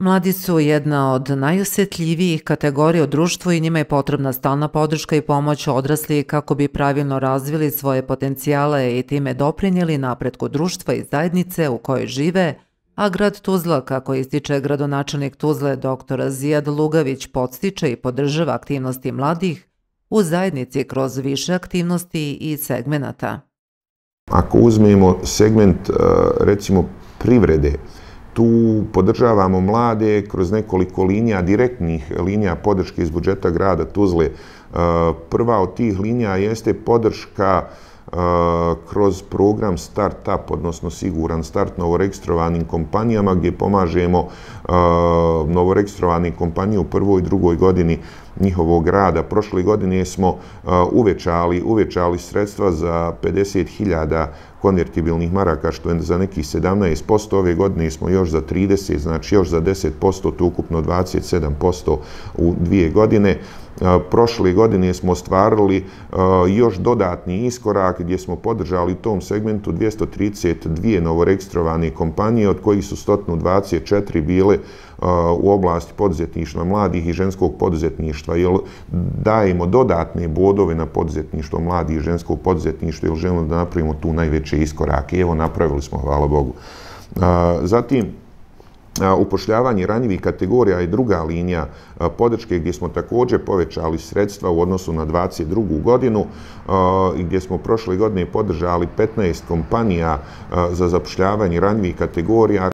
Mladi su jedna od najosjetljivijih kategorija u društvu i njima je potrebna stalna podrška i pomoć odraslih kako bi pravilno razvili svoje potencijale i time doprinijeli napretku društva i zajednice u kojoj žive, a grad Tuzla, kako ističe gradonačelnik Tuzle dr. Zijad Lugavić, podstiče i podržava aktivnosti mladih u zajednici kroz više aktivnosti i segmenata. Ako uzmemo segment, recimo, privrede, tu podržavamo mlade kroz nekoliko linija, direktnih linija podrške iz budžeta grada Tuzle. Prva od tih linija jeste podrška kroz program Start-up, odnosno siguran start novoregistrovanim kompanijama, gdje pomažemo novoregistrovanim kompanije u prvoj i drugoj godini njihovog rada. Prošle godine smo uvećali sredstva za 50.000 konvertibilnih maraka, što je za nekih 17%. Ove godine smo još za 30%, znači još za 10%, to ukupno 27% u 2 godine. Prošle godine smo ostvarili još dodatni iskorak gdje smo podržali u tom segmentu 232 novoregistrovane kompanije, od kojih su 124 bile u oblasti poduzetništva mladih i ženskog poduzetništva, jer dajemo dodatne bodove na poduzetništvo mladih i ženskog poduzetništva, jer želimo da napravimo tu najveće iskorake. Evo, napravili smo, hvala Bogu. Zatim, upošljavanje ranjivih kategorija je druga linija podrške gdje smo također povećali sredstva u odnosu na 2022. godinu i gdje smo prošle godine podržali 15 kompanija za zapošljavanje ranjivih kategorija.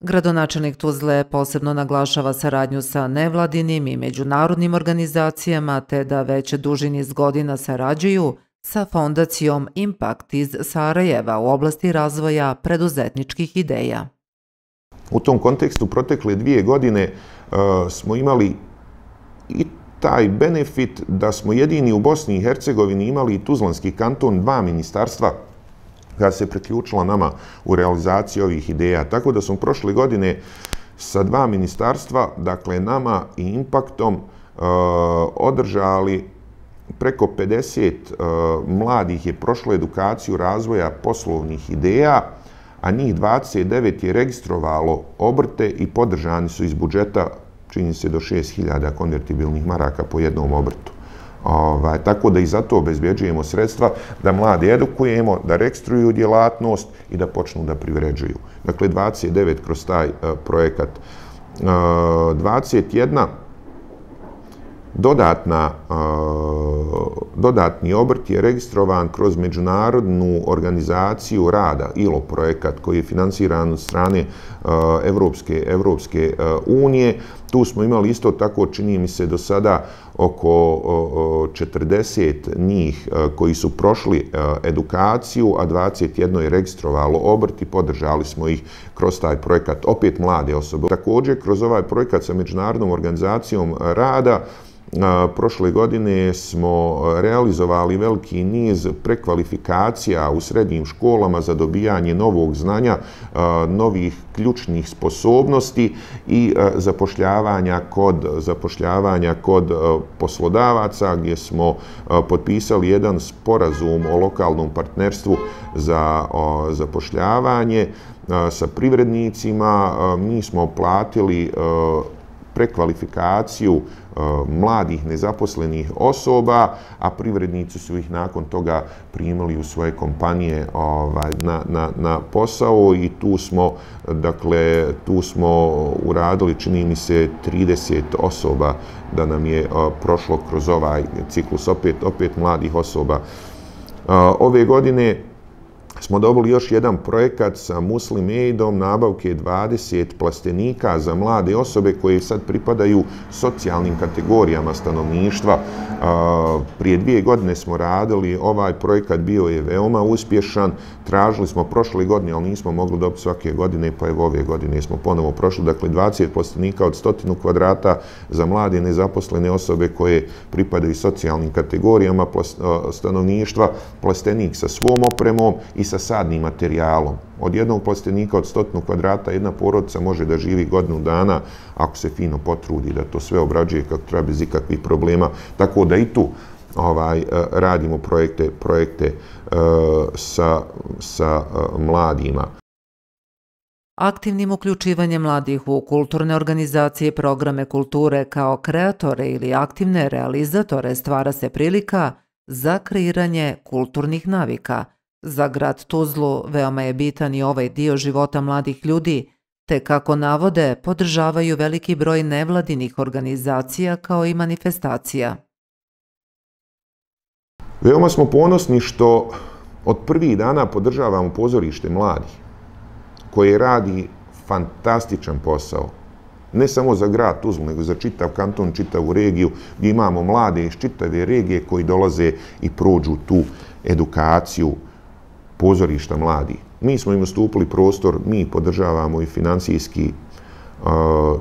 Gradonačelnik Tuzle posebno naglašava saradnju sa nevladinim i međunarodnim organizacijama te da već duži niz godina sarađuju sa fondacijom Impact iz Sarajeva u oblasti razvoja preduzetničkih ideja. U tom kontekstu protekle 2 godine smo imali i taj benefit da smo jedini u Bosni i Hercegovini imali i Tuzlanski kanton, 2 ministarstva koja se priključila nama u realizaciji ovih ideja. Tako da smo prošle godine sa 2 ministarstva, dakle nama i Impactom, održali preko 50 mladih je prošlo edukaciju razvoja poslovnih ideja, a njih 29 je registrovalo obrte i podržani su iz budžeta, čini se, do 6.000 konvertibilnih maraka po jednom obrtu. Tako da i za to obezbjeđujemo sredstva, da mlade edukujemo, da registruju djelatnost i da počnu da privređuju. Dakle, 29 kroz taj projekat. 21 dodatni obrt je registrovan kroz Međunarodnu organizaciju rada, ILO projekat, koji je finansiran od strane Evropske unije. Tu smo imali isto tako, čini mi se, do sada oko 40 njih koji su prošli edukaciju, a 21 je registrovalo obrt i podržali smo ih kroz taj projekat, opet mlade osobe. Također, kroz ovaj projekat sa Međunarodnom organizacijom rada, prošle godine smo realizovali veliki niz prekvalifikacija u srednjim školama za dobijanje novog znanja, novih ključnih sposobnosti i zapošljavanja kod poslodavaca, gdje smo potpisali jedan sporazum o lokalnom partnerstvu za zapošljavanje sa privrednicima. Mi smo platili prekvalifikaciju mladih nezaposlenih osoba, a privrednici su ih nakon toga primili u svoje kompanije na posao i tu smo uradili, čini mi se, 30 osoba da nam je prošlo kroz ovaj ciklus, opet mladih osoba. Ove godine smo dobili još jedan projekat sa Muslim Aidom, nabavke 20 plastenika za mlade osobe koje sad pripadaju socijalnim kategorijama stanovništva. Prije 2 godine smo radili, ovaj projekat bio je veoma uspješan, tražili smo prošle godine, ali nismo mogli dobiti svake godine, pa evo ove godine smo ponovo prošli. Dakle, 20 plastenika od 100 kvadrata za mlade nezaposlene osobe koje pripadaju socijalnim kategorijama stanovništva, plastenik sa svom opremom i sa sadnim materijalom. Od jednog plastenika od 100 kvadrata jedna porodica može da živi godinu dana ako se fino potrudi da to sve obrađuje kako treba bez ikakvih problema. Tako da i tu radimo projekte sa mladima. Aktivnim uključivanjem mladih u kulturne organizacije i programe kulture kao kreatore ili aktivne realizatore stvara se prilika za kreiranje kulturnih navika. Za grad Tuzlu veoma je bitan i ovaj dio života mladih ljudi, te kako navode, podržavaju veliki broj nevladinih organizacija kao i manifestacija. Veoma smo ponosni što od prvih dana podržavamo pozorište mladih, koje radi fantastičan posao. Ne samo za grad Tuzlu, nego za čitav kanton, čitavu regiju, gdje imamo mlade iz čitave regije koji dolaze i prođu tu edukaciju pozorišta mladih. Mi smo im ustupili prostor, mi podržavamo i financijski.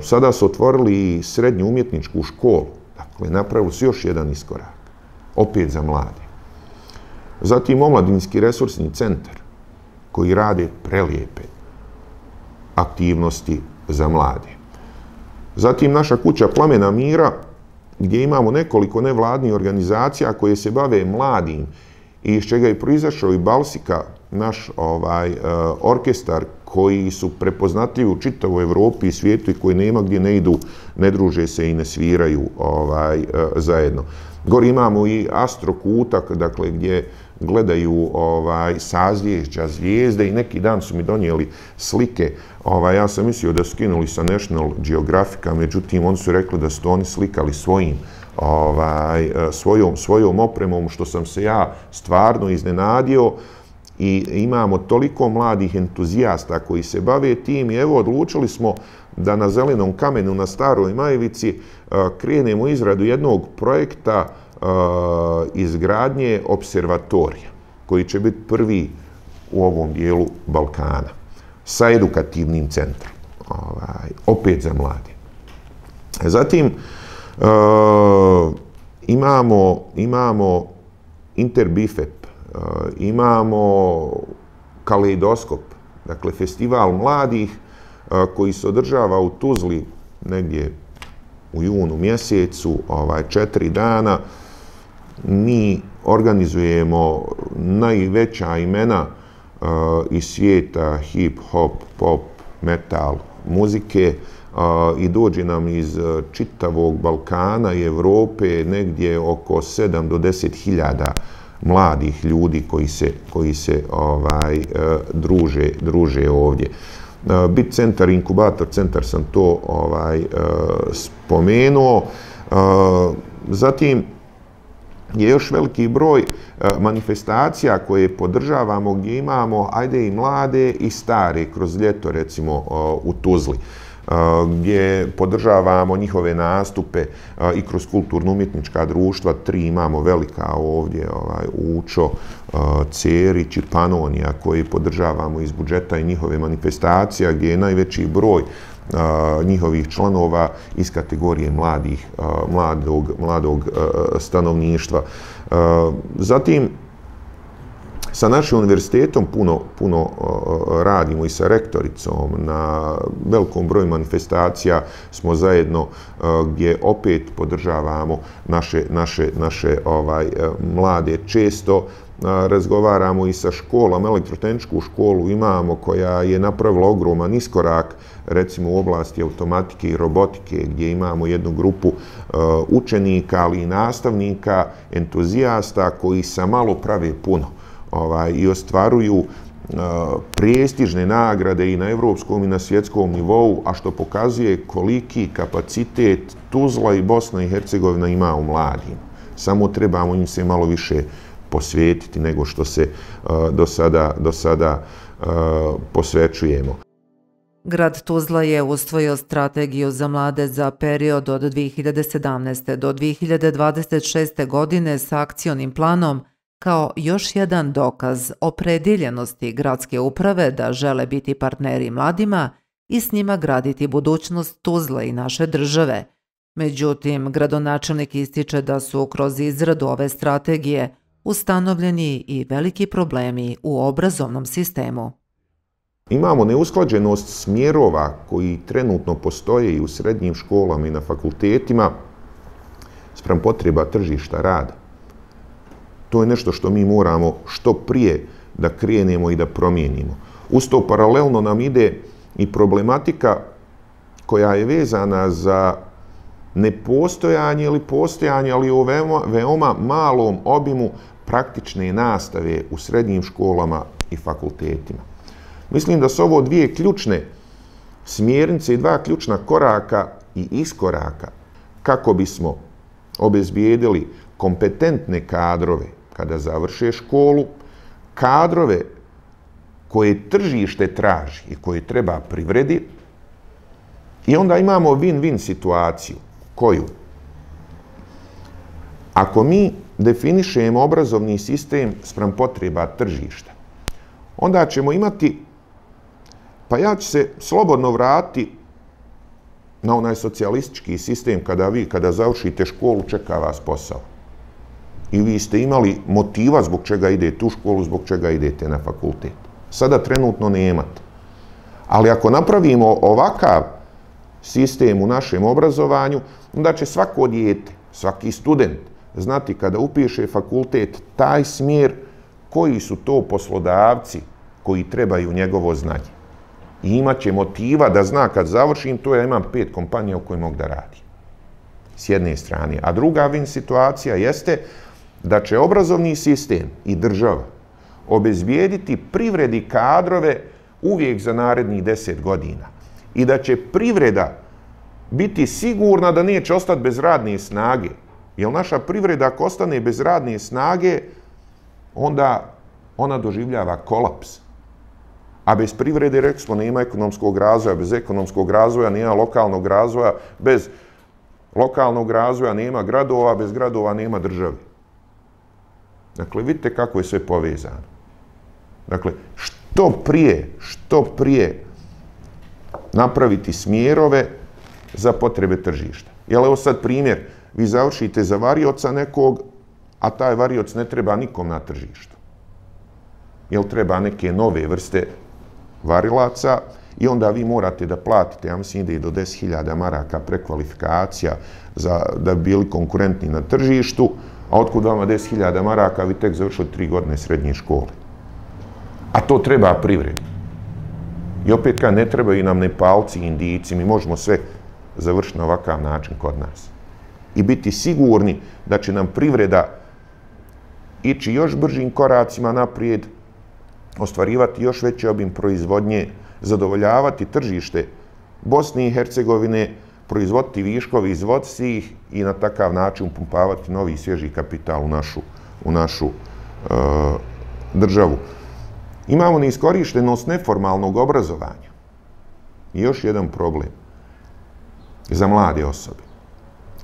Sada su otvorili i srednju umjetničku školu. Dakle, napravili su još jedan iskorak. Opet za mlade. Zatim omladinski resursni centar koji rade prelijepe aktivnosti za mlade. Zatim naša kuća Plamena mira gdje imamo nekoliko nevladnih organizacija koje se bave mladim i iz čega je proizašao i Balsika, naš orkestar koji su prepoznatljivi u čitavoj Evropi i svijetu i koji nema gdje ne idu, ne druže se i ne sviraju zajedno. Gore imamo i astrokutak, dakle, gdje gledaju sazvješća, zvijezde i neki dan su mi donijeli slike. Ja sam mislio da su skinuli sa National Geographica, međutim, oni su rekli da su to oni slikali svojom opremom, što sam se ja stvarno iznenadio. I imamo toliko mladih entuzijasta koji se bave tim i evo odlučili smo da na Zelenom kamenu na Staroj Majevici krenemo izradu jednog projekta izgradnje observatorija koji će biti prvi u ovom dijelu Balkana sa edukativnim centrom, opet za mlade. Zatim imamo Interbifep, imamo Kaleidoskop, dakle festival mladih koji se održava u Tuzli negdje u junu mjesecu, 4 dana. Mi organizujemo najveća imena iz svijeta hip, hop, pop, metal, muzike i dođe nam iz čitavog Balkana i Evrope negdje oko 7 do 10 hiljada mladih ljudi koji se druže ovdje. Bit centar, inkubator centar sam to spomenuo. Zatim je još veliki broj manifestacija koje podržavamo gdje imamo, ajde i mlade i stare, kroz ljeto recimo u Tuzli, gdje podržavamo njihove nastupe i kroz kulturno-umjetnička društva. 3 imamo velika ovdje, Učo, Cerić i Panonija, koji podržavamo iz budžeta i njihove manifestacija, gdje je najveći broj njihovih članova iz kategorije mladog stanovništva. Zatim, sa našim univerzitetom puno radimo i sa rektoricom. Na velikom broju manifestacija smo zajedno gdje opet podržavamo naše mlade. Često razgovaramo i sa školama. Elektrotehničku školu imamo koja je napravila ogroman iskorak, recimo u oblasti automatike i robotike, gdje imamo jednu grupu učenika, ali i nastavnika, entuzijasta koji sa malo prave puno i ostvaruju prestižne nagrade i na evropskom i na svjetskom nivou, a što pokazuje koliki kapacitet Tuzla i Bosna i Hercegovina ima u mladim. Samo trebamo im se malo više posvetiti nego što se do sada posvećujemo. Grad Tuzla je usvojio strategiju za mlade za period od 2017. do 2026. godine sa akcionim planom kao još jedan dokaz opredjeljenosti gradske uprave da žele biti partneri mladima i s njima graditi budućnost Tuzle i naše države. Međutim, gradonačelnik ističe da su kroz izradu ove strategije ustanovljeni i veliki problemi u obrazovnom sistemu. Imamo neusklađenost smjerova koji trenutno postoje i u srednjim školama i na fakultetima spram potreba tržišta rada. To je nešto što mi moramo što prije da krenemo i da promijenimo. Uz to paralelno nam ide i problematika koja je vezana za nepostojanje ili postojanje, ali u veoma malom obimu praktične nastave u srednjim školama i fakultetima. Mislim da su ovo dvije ključne smjernice i dva ključna koraka i iskoraka kako bismo obezbijedili kompetentne kadrove kada završe školu, kadrove koje tržište traži i koje treba privredi, i onda imamo win-win situaciju. Koju? Ako mi definišemo obrazovni sistem spram potreba tržišta, onda ćemo imati, pa ja ću se slobodno vratiti na onaj socijalistički sistem kada završite školu, čeka vas posao. I vi ste imali motiva zbog čega idete u školu, zbog čega idete na fakultet. Sada trenutno nemate. Ali ako napravimo ovakav sistem u našem obrazovanju, onda će svako dijete, svaki student znati kada upiše fakultet taj smjer koji su to poslodavci koji trebaju njegovo znanje. I imaće motiva da zna kad završim to ja imam 5 kompanija u kojima mogu da radim. S jedne strane. A druga win situacija jeste da će obrazovni sistem i država obezbijediti privredi kadrove uvijek za narednih 10 godina. I da će privreda biti sigurna da neće ostati bez radne snage. Jer naša privreda ako ostane bez radne snage, onda ona doživljava kolaps. A bez privrede, rekli smo, nema ekonomskog razvoja, bez ekonomskog razvoja nema lokalnog razvoja, bez lokalnog razvoja nema gradova, bez gradova nema države. Dakle, vidite kako je sve povezano. Dakle, što prije napraviti smjerove za potrebe tržišta. Jel, evo sad primjer, vi završite za varioca nekog, a taj varioc ne treba nikom na tržištu. Jel, treba neke nove vrste varilaca i onda vi morate da platite, ja mislim ide i do 10.000 maraka prekvalifikacija da bi bili konkurentni na tržištu, a otkud vama 10.000 maraka, vi tek završili 3 godine srednje škole. A to treba privredi. I opet kad ne trebaju nam Nepalci i Indijci, mi možemo sve završiti na ovakav način kod nas. I biti sigurni da će nam privreda ići još bržim koracima naprijed, ostvarivati još veći obim proizvodnje, zadovoljavati tržište Bosne i Hercegovine, proizvoditi viškovi, izvoziti ih i na takav način upumpavati novi svježi kapital u našu državu. Imamo neiskorištenost neformalnog obrazovanja. I još jedan problem za mlade osobe.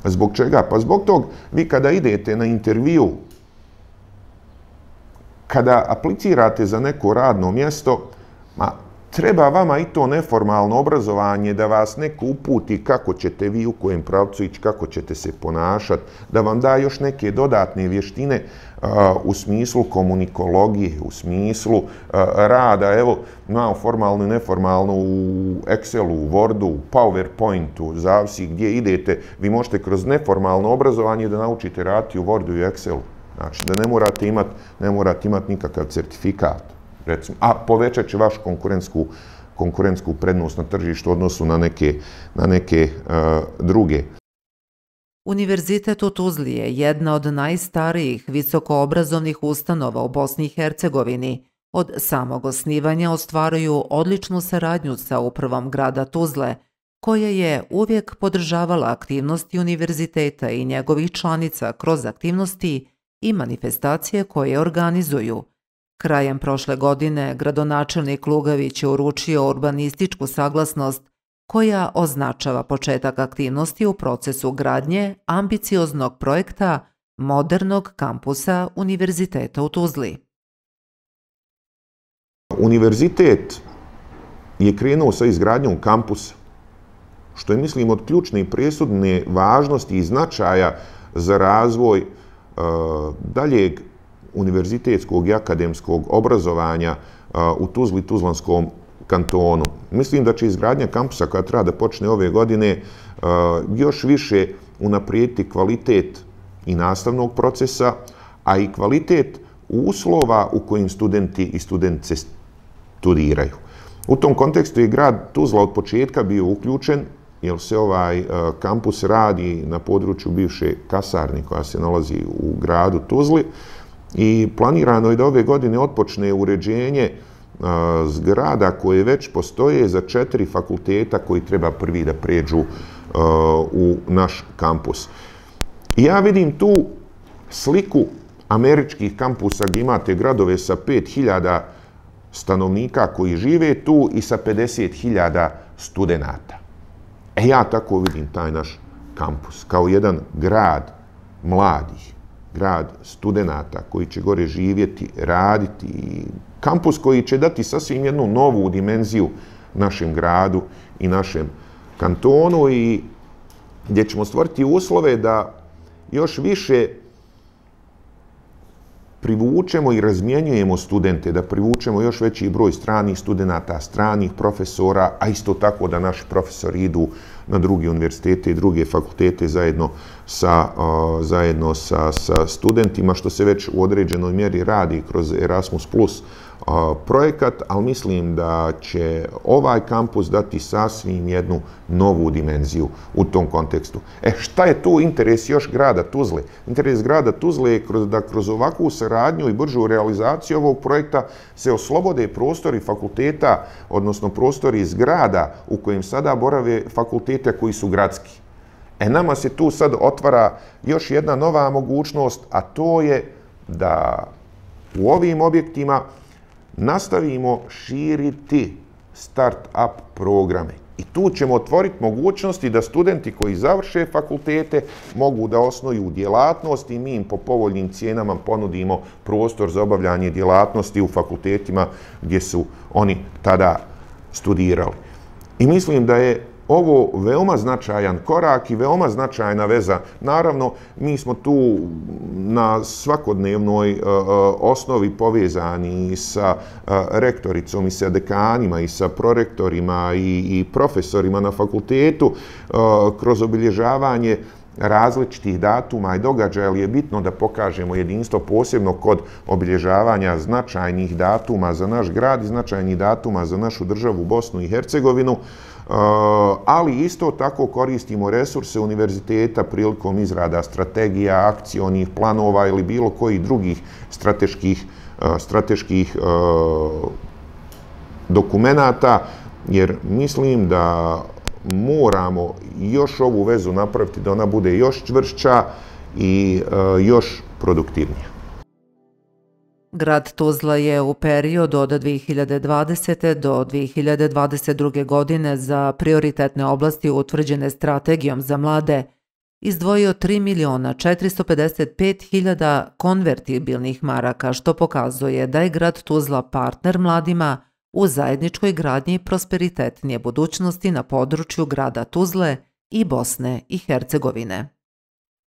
Zbog čega? Pa zbog tog, vi kada idete na intervju, kada aplicirate za neko radno mjesto, treba vama i to neformalno obrazovanje da vas neko uputi kako ćete vi u kojem pravcu ići, kako ćete se ponašati, da vam da još neke dodatne vještine u smislu komunikologije, u smislu rada, evo, imamo formalno i neformalno u Excelu, u Wordu, u PowerPointu, zavisi gdje idete, vi možete kroz neformalno obrazovanje da naučite raditi u Wordu i Excelu. Znači da ne morate imati nikakav certifikat, recimo, a povećat će vašu konkurentsku prednost na tržištu u odnosu na neke druge. Univerzitet u Tuzli je jedna od najstarijih visokoobrazovnih ustanova u Bosni i Hercegovini. Od samog osnivanja ostvaruju odličnu saradnju sa upravom grada Tuzle, koja je uvijek podržavala aktivnosti univerziteta i njegovih članica kroz aktivnosti i manifestacije koje organizuju. Krajem prošle godine gradonačelnik Lugavić je uručio urbanističku saglasnost koja označava početak aktivnosti u procesu gradnje ambicioznog projekta modernog kampusa Univerziteta u Tuzli. Univerzitet je krenuo sa izgradnjom kampusa, što je, mislim, od ključne i presudne važnosti i značaja za razvoj daljeg univerzitetskog i akademskog obrazovanja u Tuzli i Tuzlanskom kantonu. Mislim da će izgradnja kampusa koja treba da počne ove godine još više unaprijediti kvalitet i nastavnog procesa, a i kvalitet uslova u kojim studenti i studentice studiraju. U tom kontekstu je grad Tuzla od početka bio uključen, jer se ovaj kampus radi na području bivše kasarne koja se nalazi u gradu Tuzli i planirano je da ove godine otpočne uređenje zgrada koje već postoje za 4 fakulteta koji treba prvi da pređu u naš kampus. I ja vidim tu sliku američkih kampusa gdje imate gradove sa 5.000 stanovnika koji žive tu i sa 50.000 studenata. Ja tako vidim taj naš kampus, kao jedan grad mladih, grad studenata koji će gore živjeti, raditi. Kampus koji će dati sasvim jednu novu dimenziju našem gradu i našem kantonu i gdje ćemo stvoriti uslove da još više privučemo i razmjenjujemo studente, da privučemo još veći broj stranih studenata, stranih profesora, a isto tako da naši profesori idu na druge univerzitete i druge fakultete zajedno sa studentima, što se već u određenoj mjeri radi kroz Erasmus Plus projekat, ali mislim da će ovaj kampus dati sasvim jednu novu dimenziju u tom kontekstu. Šta je tu interes još grada Tuzle? Interes grada Tuzle je da kroz ovakvu saradnju i bržu realizaciju ovog projekta se oslobode prostori fakulteta, odnosno prostori iz grada u kojem sada borave fakultete koji su gradski. Nama se tu sad otvara još jedna nova mogućnost, a to je da u ovim objektima nastavimo širiti start-up programe. I tu ćemo otvoriti mogućnosti da studenti koji završe fakultete mogu da osnuju djelatnost i mi im po povoljnim cijenama ponudimo prostor za obavljanje djelatnosti u fakultetima gdje su oni tada studirali. I mislim da je ovo veoma značajan korak i veoma značajna veza. Naravno, mi smo tu na svakodnevnoj osnovi povezani i sa rektoricom, i sa dekanima, i sa prorektorima, i profesorima na fakultetu kroz obilježavanje različitih datuma i događaja, ali je bitno da pokažemo jedinstvo posebno kod obilježavanja značajnih datuma za naš grad i značajnih datuma za našu državu Bosnu i Hercegovinu, ali isto tako koristimo resurse univerziteta prilikom izrada strategija, akcionih planova ili bilo kojih drugih strateških dokumenata, jer mislim da moramo još ovu vezu napraviti da ona bude još čvršća i još produktivnija. Grad Tuzla je u periodu od 2020. do 2022. godine za prioritetne oblasti utvrđene strategijom za mlade izdvojio 3.455.000 konvertibilnih maraka, što pokazuje da je grad Tuzla partner mladima u zajedničkoj gradnji prosperitetnije budućnosti na području grada Tuzle i Bosne i Hercegovine.